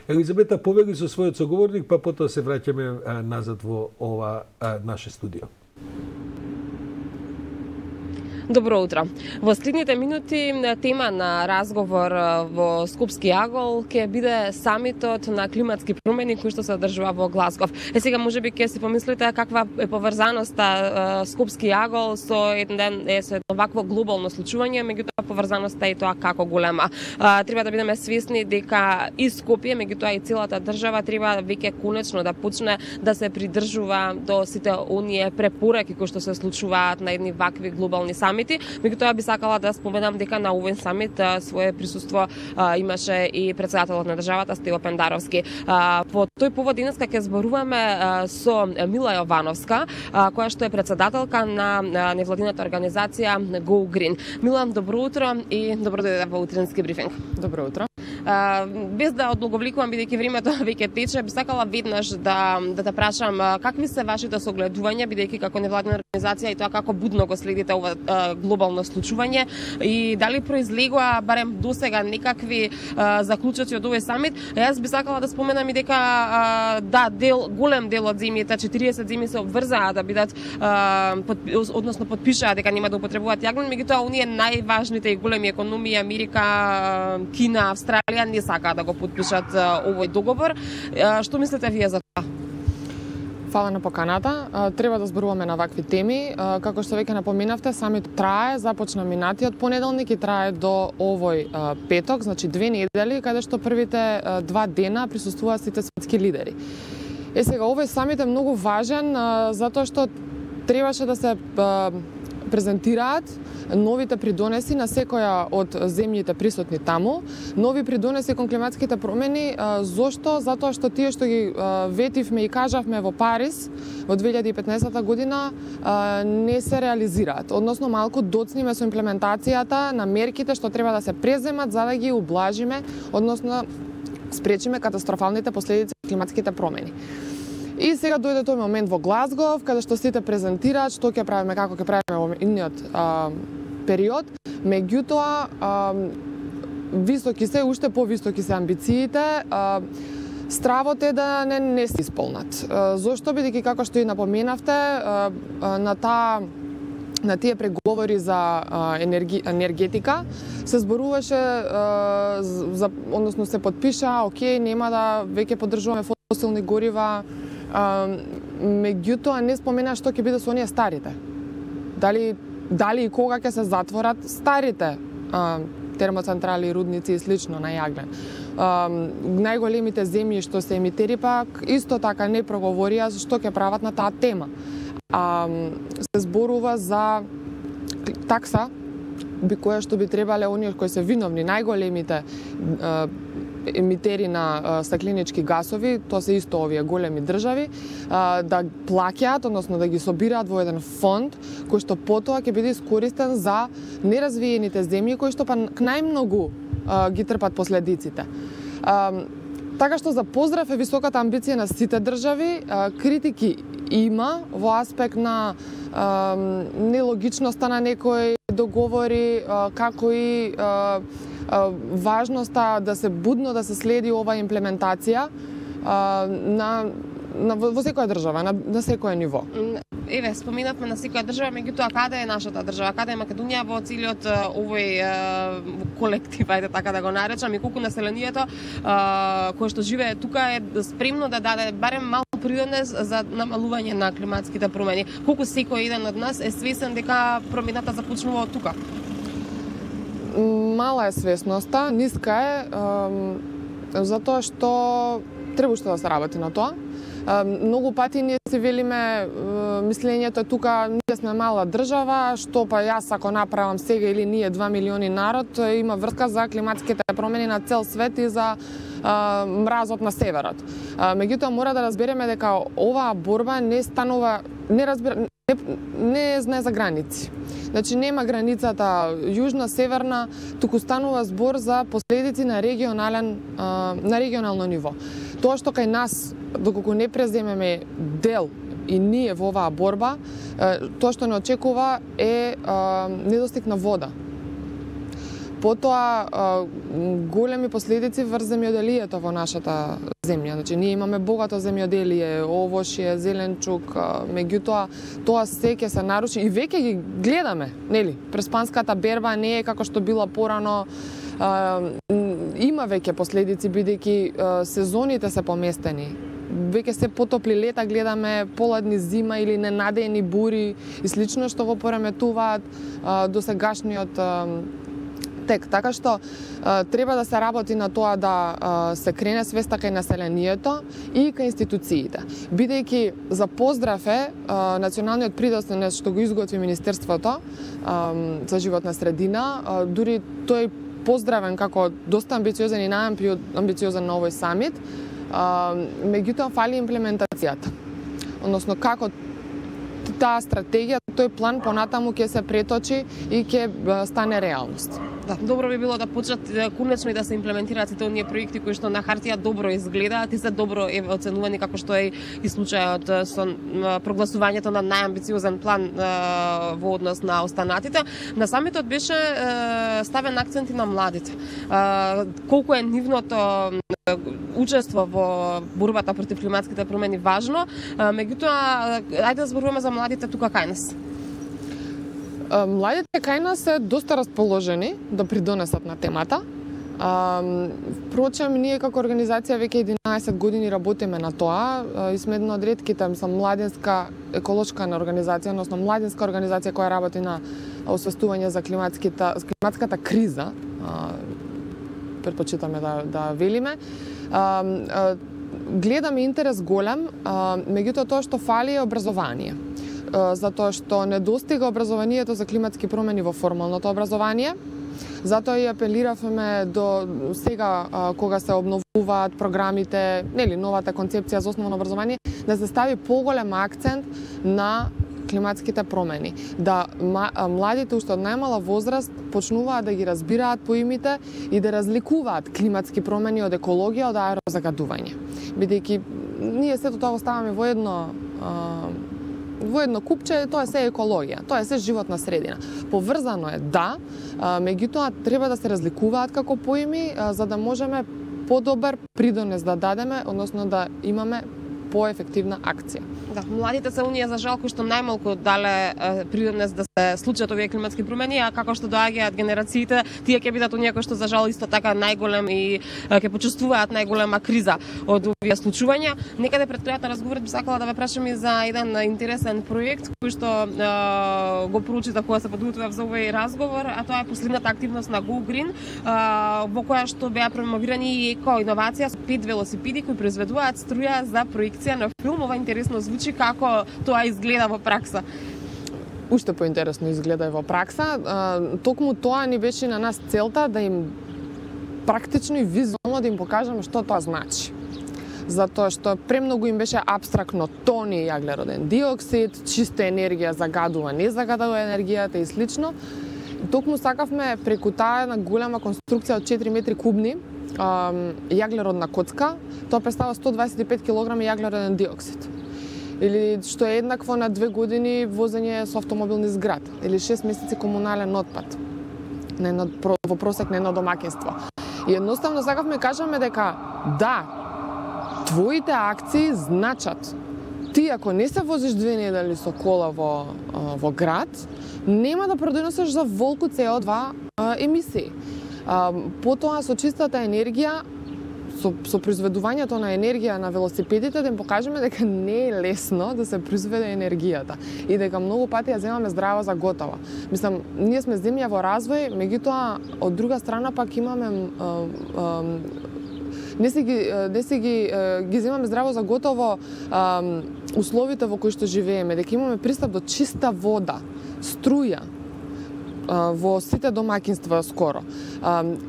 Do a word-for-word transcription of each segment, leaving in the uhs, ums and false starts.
Елизабета, повели со својот соговорник, па потоа се враќаме назад во ова наше студио. Добро утро. Во следните минути тема на разговор во Скопски агол ќе биде самитот на климатски промени кој што се одржува во Глазгов. Е сега можеби ќе си помислите каква е поврзаноста Скопски агол со еден е со едно вакво глобално случување, меѓутоа поврзаноста е тоа како голема. А, треба да бидеме свесни дека и Скопје, меѓутоа и целата држава треба веќе конечно да почне да се придржува до сите оние препораки кои што се случуваат на едни вакви глобални самити. Меѓутоа би сакала да споменам дека на овој самит свое присуство а, имаше и председателот на државата Стево Пендаровски. А, по тој повод денеска ќе зборуваме а, со Мила Јовановска, а, која што е председателка на, на невладината организација Go Green. Мила, добро утро и добро дојде во утренски брифинг. Добро утро. А, без да одлаговликувам, бидејќи времето веќе тече, би сакала веднаш да да те прашам какви се вашите согледувања, бидејќи како невладина организација и тоа како будно го следите ова а, глобално случување и дали произлегува барем досега некакви а, заклучоци од овој самит. Јас би сакала да споменам и дека а, да, дел голем дел од земјите, четириесет земји се обврзаа да бидат а, под, односно подпишаа дека нема да употребуваат јагнен, меѓутоа оние најважните и големи економии Америка, Кина, Австралија не сакаат да го подпишат овој договор. Што мислите вие за тоа? Фала на поканата. Треба да зборуваме на вакви теми. Како што веќе напоменавте, самит трае, започна минатиот понеделник и трае до овој петок, значи две недели, каде што првите два дена присуствуваат сите светски лидери. Е сега, овој самит е многу важен затоа што требаше да се презентираат новите придонеси на секоја од земјите присутни таму, нови придонеси кон климатските промени. Зошто? Затоа што тие што ги ветивме и кажавме во Париз во две илјади и петнаесетта година не се реализираат. Односно, малку доцниме со имплементацијата на мерките што треба да се преземат за да ги ублажиме, односно спречиме катастрофалните последици од климатските промени. И сега дојде тој момент во Глазгов, каде што сите презентираат што ќе правиме, како ќе правиме во идниот период. Меѓутоа, а, високи се, уште повисоки се амбициите, а, стравот е да не, не се исполнат. А, зошто? Бидејќи, како што и напоменавте, а, а, на таа на тие преговори за а, енерги, енергетика се зборуваше а, за, односно се подпиша, окей, нема да веќе поддржуваме фосилни горива, а, меѓутоа не спомена што ќе биде со оние старите. Дали дали и кога ќе се затворат старите а, термоцентрали, рудници и слично на јаглен. А, најголемите земји што се емитери пак исто така не проговорија што ќе прават на таа тема. А, се зборува за такса би која што би требале оние кои се виновни, најголемите а, емитери на стакленички гасови, тоа се исто овие големи држави, да плаќаат, односно да ги собираат во еден фонд кој што потоа ќе биде искористен за неразвиените земји кои што па најмногу ги трпат последиците. Така што за поздрав е високата амбиција на сите држави, критики има во аспект на нелогичноста на некои договори, како и важноста да се будно да се следи ова имплементација а, на, на во секоја држава, на, на секој ниво. Еве, споминавме на секоја држава, меѓутоа каде е нашата држава, каде е Македонија во целиот овој колектив, ајде така да го наречам, и колку населението а, кое што живее тука е спремно да даде барем малку придонес за намалување на климатските промени. Колку секој еден од нас е свесен дека промената започнува од тука? Мала е свесноста, ниска е, е затоа што треба уште да се работи на тоа. Е, многу пати ние си велиме, е, мислењето тука, ние сме мала држава, што па јас ако направам сега или ние два милиони народ, има врска за климатските промени на цел свет и за а, мразот на северот. А, меѓутоа мора да разбереме дека оваа борба не станува, не разбира, не, не знае за граници. Значи нема границата јужна, северна, туку станува збор за последици на регионален а, на регионално ниво. Тоа што кај нас доколку не преземеме дел и ние во оваа борба, тоа што не очекува е а, недостиг на вода. Потоа големи последици врз земјоделието во нашата земја. Значи ние имаме богато земјоделие, овошје, зеленчук, меѓутоа тоа се ќе се наруши и веќе ги гледаме, нели? Преспанската берба не е како што била порано. Има веќе последици бидејќи сезоните се поместени. Веќе се потопли лета гледаме, поладни зима или ненадејни бури и слично што го пореметуваат досегашниот тек. Така што треба да се работи на тоа да се крене свеста кај населението и кај институциите. Бидејќи за поздрав е националниот придоснес што го изготви Министерството за животна средина, дури тој поздравен како доста амбициозен и најамбициозен на овој самит, меѓутоа фали имплементацијата. Односно како таа стратегија, тој план понатаму ќе се преточи и ќе стане реалност. Да, добро би било да почнат конечно и да се имплементираат сите оние проекти кои што на хартија добро изгледаат и се добро е оценувани, како што е и случајот со прогласувањето на најамбициозен план во однос на останатите. На самитот беше ставен акцент и на младите. Колку е нивното учество во борбата против климатските промени важно, меѓутоа ајде да зборуваме за младите тука кај нас. Младите кај нас се доста расположени да придонесат на темата. Впрочем, ние како организација веќе единаесет години работиме на тоа и сме една од ретките, мислам, младинска еколошка организација, односно младинска организација која работи на освестување за климатската, климатската криза. Предпочитаме да, да велиме. Гледаме интерес голем, меѓутоа тоа што фали е образование. Затоа што недостига образованието за климатски промени во формалното образование. Затоа и апелиравме до сега кога се обновуваат програмите, нели новата концепција за основно образование, да се стави поголем акцент на климатските промени, да младите уште од најмала возраст почнуваат да ги разбираат поимите и да разликуваат климатски промени од екологија, од аерозагадување. Бидејќи ние сето тоа го ставаме во едно во едно купче, тоа е се екологија, тоа е се животна средина. Поврзано е, да, меѓутоа треба да се разликуваат како поими, за да можеме подобар придонес да дадеме, односно да имаме поефективна акција. Да, младите се оние за жал кои што најмалку дале придонес да се случат овие климатски промени, а како што доаѓаат генерациите, тие ќе бидат оние кои што за жал исто така најголем и ќе почувствуваат најголема криза од овие случувања. Некаде пред крајот на разговорот би сакала да ве прашам и за еден интересен проект кој што е, го проучитав кога се подготвував за овој разговор, а тоа е последната активност на Go Green, е, во која што беа промовирани и еко иновација со пет велосипеди кои произведуваат струја за проекција на филм. Ова интересно звучи, како тоа изгледа во пракса. Уште поинтересно изгледа и во пракса. Токму тоа ни беше на нас целта да им практично и визуално да им покажеме што тоа значи. Затоа што премногу им беше апстрактно тони јаглероден диоксид, чиста енергија загадува, не загадува енергијата и слично. Токму сакавме преку таа една голема конструкција од четири метри кубни јаглеродна коцка, тоа представува сто дваесет и пет килограми јаглероден диоксид. Или што е еднакво на две години возење со автомобилни зград, или шест месеци комунален отпад на едно, во просек на едно домаќинство. И едноставно сакавме кажеме дека да, твоите акции значат. Ти ако не се возиш две недели со кола во, во град, нема да продонесеш за волку С О два емисии. Потоа со чистата енергија, со, со произведувањето на енергија на велосипедите, да им покажеме дека не е лесно да се произведе енергијата и дека многу пати ја земаме здраво за готово. Мислам, ние сме земја во развој, меѓутоа од друга страна пак имаме а, а, не се ги не се ги ги земаме здраво за готово а, условите во кои што живееме, дека имаме пристап до чиста вода, струја во сите домаќинства скоро.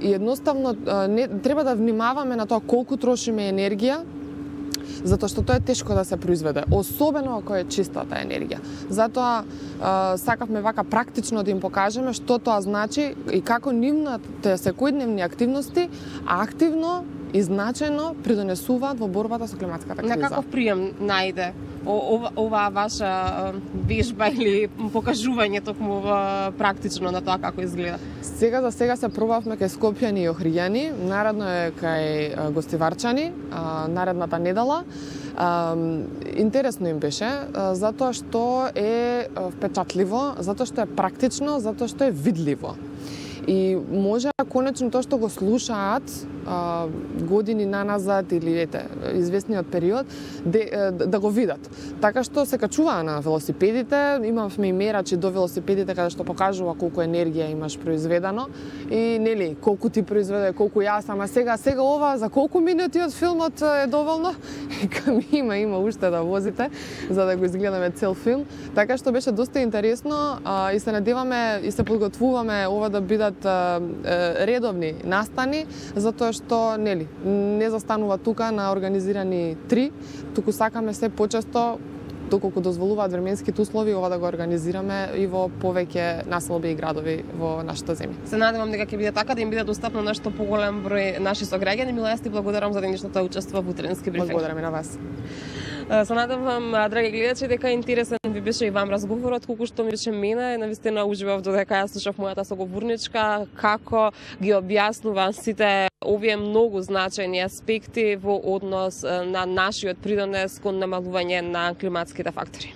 И едноставно не треба да внимаваме на тоа колку трошиме енергија, затоа што тоа е тешко да се произведе, особено ако е чистата енергија. Затоа сакавме вака практично да им покажеме што тоа значи и како нивните секојдневни активности активно и значајно придонесуваат во борбата со климатската криза. На каков прием најде ова, ова ваша вежба или покажување токму практично на тоа како изгледа? Сега за сега се пробавме кај Скопјани и Охријани, наредно е кај Гостиварчани, наредната недела. Интересно им беше, затоа што е впечатливо, затоа што е практично, затоа што е видливо. И може конечно тоа што го слушаат а, години наназад или ете, известниот период, де, да го видат. Така што се качуваа на велосипедите, имавме и мерачи до велосипедите каде што покажува колку енергија имаш произведено и нели колку ти произведе, колку јас, ама сега сега ова за колку минути од филмот е доволно? Кам има има уште да возите за да го изгледаме цел филм. Така што беше доста интересно а, и се надеваме и се подготвуваме ова да бидат а, редовни настани, затоа што нели не застанува тука на организирани три, туку сакаме се почесто доколку дозволуваат временските услови ова да го организираме и во повеќе населби и градови во нашата земја. Се надевам дека ќе биде така да им биде достапно на што поголем број наши сограѓани. Мила, јас ти благодарам за денешната учество во утренски брифинг. Благодарам и на вас. Се надевам, драги гледачи, дека интересен ви беше и вам разговорот, колку што ми беше мене, навистина уживав додека јас слушав мојата соговорничка, како ги објаснува сите овие многу значајни аспекти во однос на нашиот придонес кон намалување на климатските фактори.